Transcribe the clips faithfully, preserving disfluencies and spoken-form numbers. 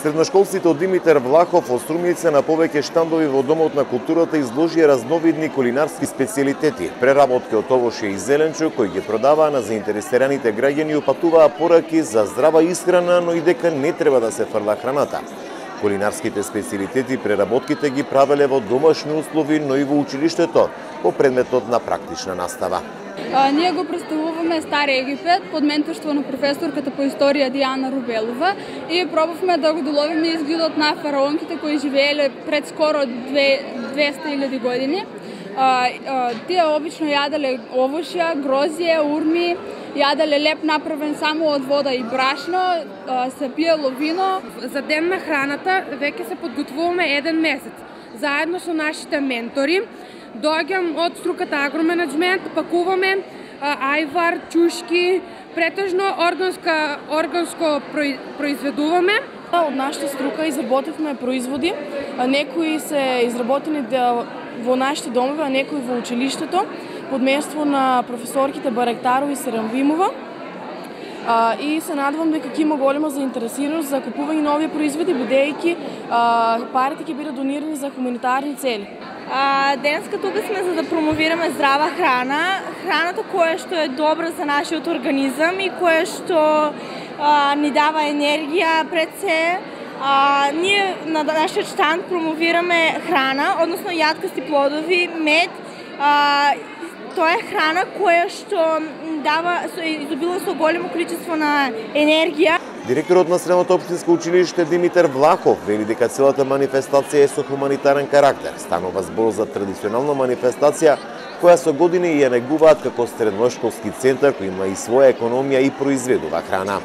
Средношколците од Димитар Влахов од Струмица на повеќе штандови во Домот на културата изложија разновидни кулинарски специјалитети, преработки од овошје и зеленчук кои ги продаваа на заинтересираните граѓани и упатуваа пораки за здрава исхрана, но и дека не треба да се фрла храната. Кулинарските специјалитети и преработките ги правеле во домашни услови, но и во училиштето, по предметот на практична настава. А, ние го представуваме Стари Египет под менторство на професорката по историја Диана Рубелова и пробавме да го доловиме изгледот на фараонките кои живееле пред скоро двеста илјади години. А, а, тие обично јаделе овошја, грозје, урми, јаделе леп направен само од вода и брашно, а, се пиело вино. За ден на храната веќе се подготвуваме еден месец, заедно со нашите ментори. Доаѓам од струката агроменеджмент, пакуваме а, ајвар, чушки, претежно органска, органско произведуваме. Од нашата струка изработивме производи, а некои се изработени во нашите домови, а некои во училиштето, под менторство на професорките Баректарова и Серамвимова. А, и се надевам дека ќе има голема заинтересираност за купување нови производи, бидејќи парите ќе бидат донирани за хуманитарни цели. А, денеска тука сме за да промовираме здрава храна, храната која што е добра за нашиот организам и која што а, ни дава енергија пред се. А, ние на нашиот штанд промовираме храна, односно јаткасти плодови, мед. А, тоа е храна која што дава изобилува со големо количество на енергија. Директорот на Средното општинско училиште Димитар Влахов вели дека целата манифестација е со хуманитарен карактер. Станува збор за традиционална манифестација која со години ја негуваат како средношколски центар кој има и своја економија и произведува храна.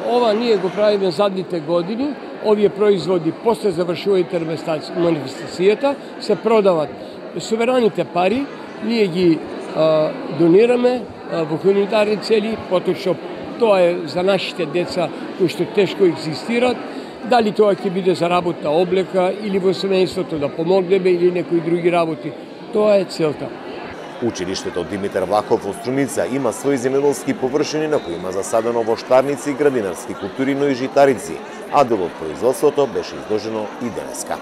Ова ние го правиме задните години. Овие производи после завршувајќи манифестацијата се продават. Суверените пари ние ги а, донираме а, во хуманитарни цели, поточно тоа е за нашите деца кои што тешко екзистират, дали тоа ќе биде за работа облека или во семејството да помогнеме или некои други работи. Тоа е целта. Училиштето Димитар Влахов во Струмица има своји земјоделски површини на кои има засадено воштарници, градинарски култури, но и житарици, а дел од производството беше изложено и денеска.